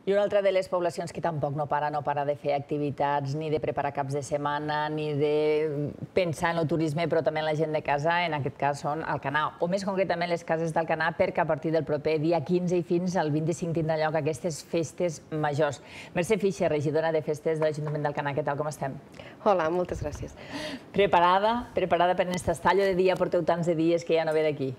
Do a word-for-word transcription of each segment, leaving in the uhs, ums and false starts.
I una altra de les poblacions que tampoc no para, no para de fer activitats, ni de preparar caps de setmana, ni de pensar en el turisme, però també en la gent de casa, en aquest cas són Alcanar, o més concretament les cases d'Alcanar, perquè a partir del proper dia quinze i fins al vint-i-cinc tindran lloc aquestes festes majors. Mercè Fischer, regidora de festes de l'Ajuntament d'Alcanar, què tal, com estem? Hola, moltes gràcies. Preparada? Preparada per aquest estallo de dia? Porteu tants de dies que ja no ve d'aquí.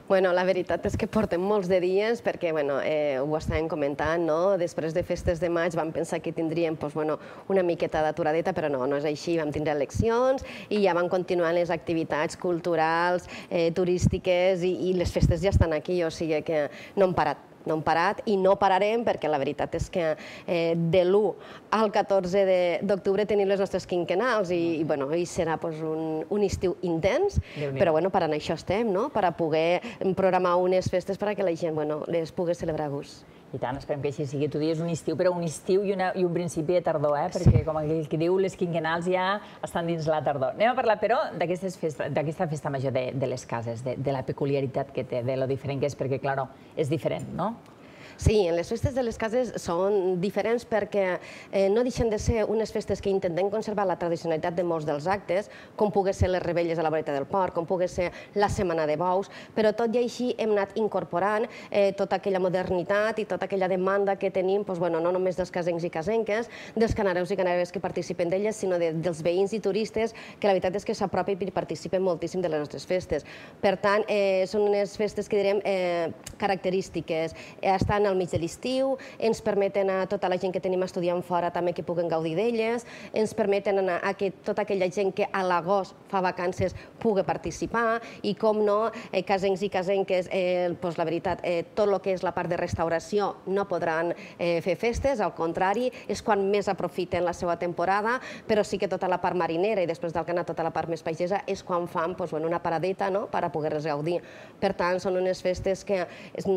Bueno, la veritat és que portem molts de dies perquè bueno, eh, ho estàvem comentant, no? Després de festes de maig vam pensar que tindríem pues, bueno, una miqueta d'aturadeta, però no, no és així. Vam tindre eleccions i ja van continuar les activitats culturals, eh, turístiques i, i les festes ja estan aquí, o sigui que no hem parat. No hem parat i no pararem perquè la veritat és que eh, de l'u al catorze d'octubre tenim les nostres quinquennals i, i, bueno, i serà pues, un, un estiu intens, però bueno, per a això estem, no? Per a poder programar unes festes perquè la gent bueno, les pugui celebrar a gust. I tant, esperem que així sigui. Tu dius un estiu, però un estiu i, una, i un principi de tardor, eh? Perquè, com aquell que diu, les quinquennals ja estan dins la tardor. Anem a parlar, però, d'aquesta festa major de, de les cases, de, de la peculiaritat que té, de lo diferent que és, perquè, clar, és diferent, no? Sí, les festes de les cases són diferents perquè eh, no deixen de ser unes festes que intentem conservar la tradicionalitat de molts dels actes, com pugui ser les rebelles a la voreta del port, com pugui ser la Setmana de Bous, però tot i així hem anat incorporant eh, tota aquella modernitat i tota aquella demanda que tenim, doncs, bueno, no només dels casencs i casenques, dels canareus i canareus que participen d'elles, sinó de, dels veïns i turistes, que la veritat és que s'apropen i participen moltíssim de les nostres festes. Per tant, eh, són unes festes que direm eh, característiques, eh, estan al mig de l'estiu, ens permeten a tota la gent que tenim estudiant fora també que puguen gaudir d'elles, ens permeten a que tota aquella gent que a l'agost fa vacances pugui participar i, com no, eh, casencs i casenques, eh, doncs la veritat, eh, tot el que és la part de restauració no podran eh, fer festes, al contrari, és quan més aprofiten la seva temporada, però sí que tota la part marinera i després d'Alcanar tota la part més pagesa és quan fan doncs, bueno, una paradeta no? Per a poder-les gaudir. Per tant, són unes festes que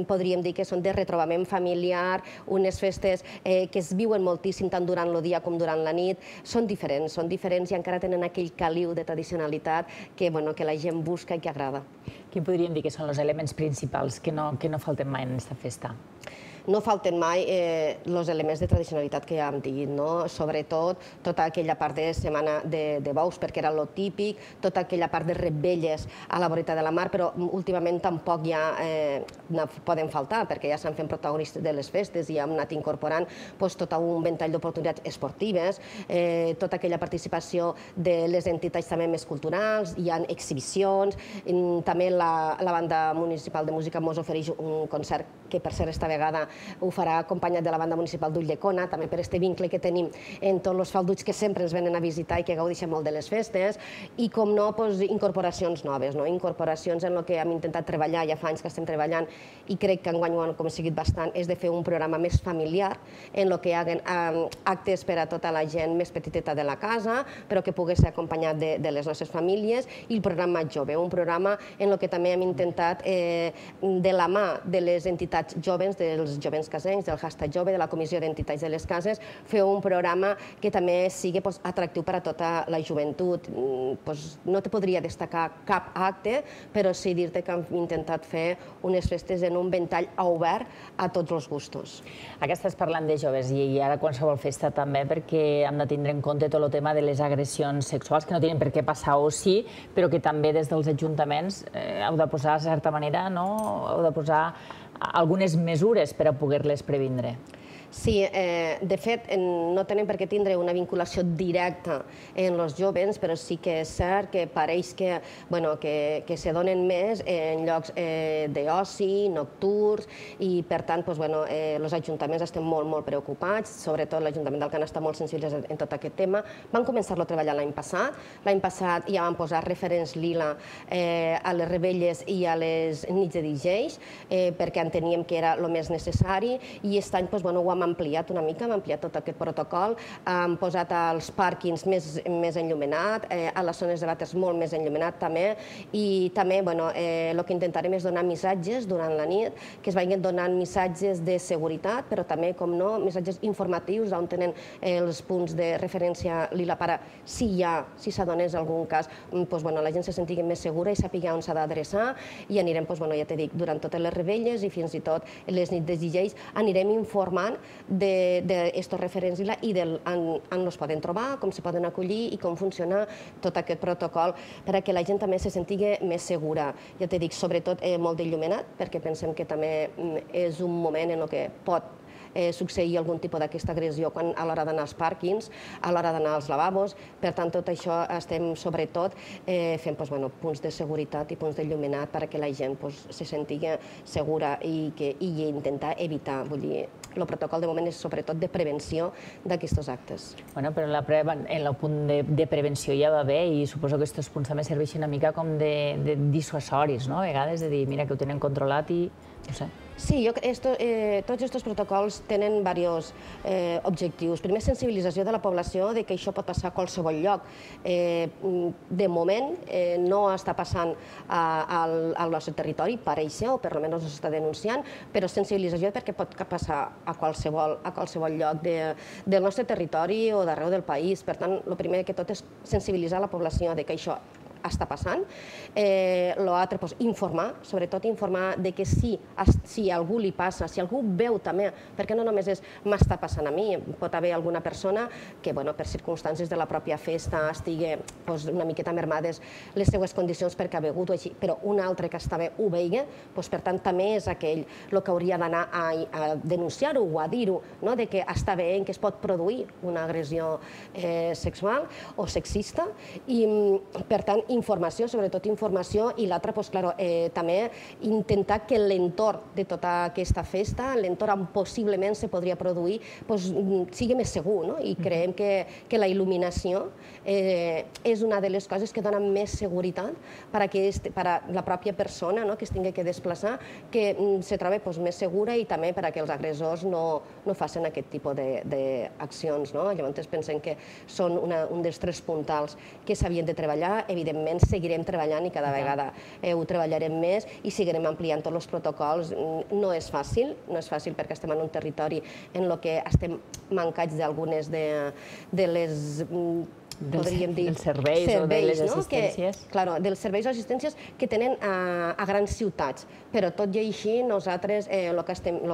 podríem dir que són de retrobament familiar, unes festes eh, que es viuen moltíssim tant durant el dia com durant la nit. Són diferents, són diferents i encara tenen aquell caliu de tradicionalitat que, bueno, que la gent busca i que agrada. Quin podríem dir que són els elements principals que no, que no falten mai en aquesta festa? No falten mai eh, els elements de tradicionalitat que ja hem dit, no? Sobretot tota aquella part de Setmana de, de Bous, perquè era lo típic, tota aquella part de rebelles a la voreta de la mar, però últimament tampoc ja eh, poden faltar, perquè ja s'han fet protagonistes de les festes i hem anat incorporant pues, tot un ventall d'oportunitats esportives, eh, tota aquella participació de les entitats també més culturals, hi ha exhibicions, també la, la banda municipal de música ens ofereix un concert que per cert esta vegada ho farà acompanyat de la banda municipal d'Ulldecona, també per aquest vincle que tenim en tots els falduts que sempre ens venen a visitar i que gaudeixen molt de les festes, i com no, incorporacions noves, incorporacions en el que hem intentat treballar, ja fa anys que estem treballant, i crec que enguany ho hem aconseguit bastant, és de fer un programa més familiar, en el que hi hagin actes per a tota la gent més petiteta de la casa, però que pugui ser acompanyat de les nostres famílies, i el programa jove, un programa en el que també hem intentat, de la mà de les entitats joves, dels jovents casencs, del hashtag jove, de la Comissió d'Entitats de les Cases, fer un programa que també sigui atractiu per a tota la joventut. No te podria destacar cap acte, però sí dir-te que hem intentat fer unes festes en un ventall obert a tots els gustos. Ara estàs parlant de joves i ara qualsevol festa també, perquè hem de tindre en compte tot el tema de les agressions sexuals, que no tenen per què passar o sí, però que també des dels ajuntaments heu de posar, de certa manera, heu de posar algunes mesures per a poder-les previndre. Sí, de fet, no tenen per què tindre una vinculació directa en els joves, però sí que és cert que pareix que se donen més en llocs d'oci, nocturns, i per tant, els ajuntaments estem molt, molt preocupats, sobretot l'Ajuntament d'Alcanar està molt sensible en tot aquest tema. Vam començar-lo a treballar l'any passat. L'any passat ja vam posar referents lila a les rebelles i a les nits de D Js, perquè enteníem que era el més necessari, i aquest any ho hem ampliat una mica, hem ampliat tot aquest protocol, hem posat els pàrquings més enllumenat, a les zones de vàters molt més enllumenat també, i també el que intentarem és donar missatges durant la nit, que es vagin donant missatges de seguretat, però també, com no, missatges informatius on tenen els punts de referència lila per a si hi ha, si s'adonés algun cas, la gent se sentigui més segura i sàpiga on s'ha d'adreçar, i anirem, ja t'he dit, durant totes les rebelles i fins i tot les nits de D Js anirem informant d'estos referents i on els poden trobar, com se poden acollir i com funciona tot aquest protocol perquè la gent també se sentigui més segura. Ja t'he dit, sobretot molt d'il·luminat, perquè pensem que també és un moment en què pot succeir algun tipus d'aquesta agressió a l'hora d'anar als pàrquings, a l'hora d'anar als lavabos. Per tant, tot això estem sobretot fent punts de seguretat i punts d'il·luminat perquè la gent se sentigui segura i intentar evitar. Vull dir, el protocol de moment és sobretot de prevenció d'aquests actes. Bueno, però en el punt de prevenció ja va bé i suposo que aquests punts també serveixen una mica com de dissuasoris, no? A vegades de dir, mira, que ho tenen controlat i no sé. Sí, tots aquests protocols tenen diversos objectius. Primer, sensibilització de la població de que això pot passar a qualsevol lloc. De moment no està passant al nostre territori, pareix ser, o per almenys no s'està denunciant, però sensibilització perquè pot passar a qualsevol lloc del nostre territori o d'arreu del país. Per tant, el primer que tot és sensibilitzar la població de que això està passant. L'altre, informar, sobretot informar de que si a algú li passa, si algú veu també, perquè no només és m'està passant a mi, pot haver alguna persona que per circumstàncies de la pròpia festa estigui una miqueta mermades les seues condicions perquè ha begut o així, però un altre que està bé ho vegi, per tant també és aquell el que hauria d'anar a denunciar-ho o a dir-ho, de que està bé que es pot produir una agressió sexual o sexista i per tant informació, sobretot informació, i l'altra, també intentar que l'entorn de tota aquesta festa, l'entorn on possiblement se podria produir, sigui més segur, i creiem que la il·luminació és una de les coses que dona més seguretat per a la pròpia persona que es tingui que desplaçar, que se trobi més segura i també perquè els agressors no facin aquest tipus d'accions. Llavors pensem que són un dels tres puntals que s'havien de treballar. Evidentment, seguirem treballant i cada vegada ho treballarem més i seguirem ampliant tots els protocols. No és fàcil, no és fàcil perquè estem en un territori en què estem mancats d'algunes de les podríem dir... Dels serveis o de les assistències. Clar, dels serveis o assistències que tenen a grans ciutats. Però tot i així, nosaltres el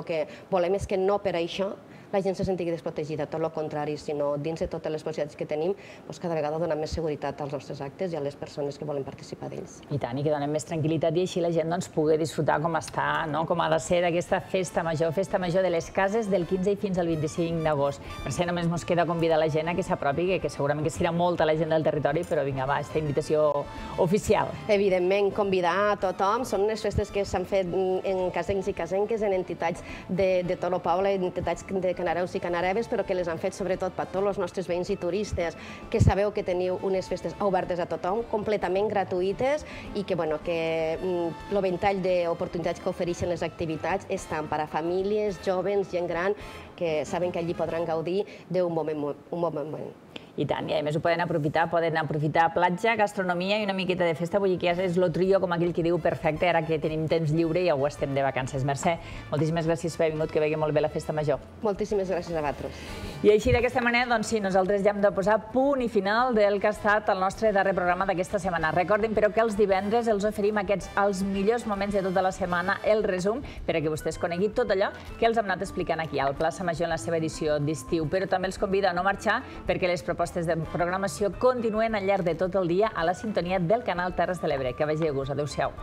que volem és que no per això la gent se sentigui desprotegida, tot el contrari, sinó dins de totes les possibilitats que tenim, cada vegada donem més seguretat als nostres actes i a les persones que volen participar d'ells. I tant, i que donem més tranquil·litat i així la gent pugui disfrutar com està, com ha de ser d'aquesta festa major, festa major de les cases del quinze i fins al vint-i-cinc d'agost. Per això només ens queda convidar la gent a que s'apropi, que segurament que serà molta la gent del territori, però vinga, va, aquesta invitació oficial. Evidentment, convidar a tothom. Són unes festes que s'han fet en casencs i casenques, en entitats de tot el poble, entitats de canareus i canareves, però que les han fet sobretot per tots els nostres veïns i turistes, que sabeu que teniu unes festes obertes a tothom, completament gratuïtes i que el ventall d'oportunitats que ofereixen les activitats és tant per a famílies, joves, gent gran, que saben que allí podran gaudir d'un bon moment. I tant, i a més ho poden aprofitar, poden aprofitar platja, gastronomia i una miqueta de festa, vull dir que ja és el trio, com aquell que diu, perfecte, ara que tenim temps lliure i ja ho estem de vacances. Mercè, moltíssimes gràcies per haver vingut, que vegi molt bé la festa major. Moltíssimes gràcies a vosaltres. I així, d'aquesta manera, doncs sí, nosaltres ja hem de posar punt i final del que ha estat el nostre darrer programa d'aquesta setmana. Recordin, però, que els divendres els oferim aquests els millors moments de tota la setmana, el resum, perquè vostès coneguin tot allò que els hem anat explicant aquí, al Plaça Major en la seva edició d'estiu. Però també els convido a no marxar, perquè les propostes propostes de programació continuen al llarg de tot el dia a la sintonia del canal Terres de l'Ebre. Que vagi a gust. Adéu-siau.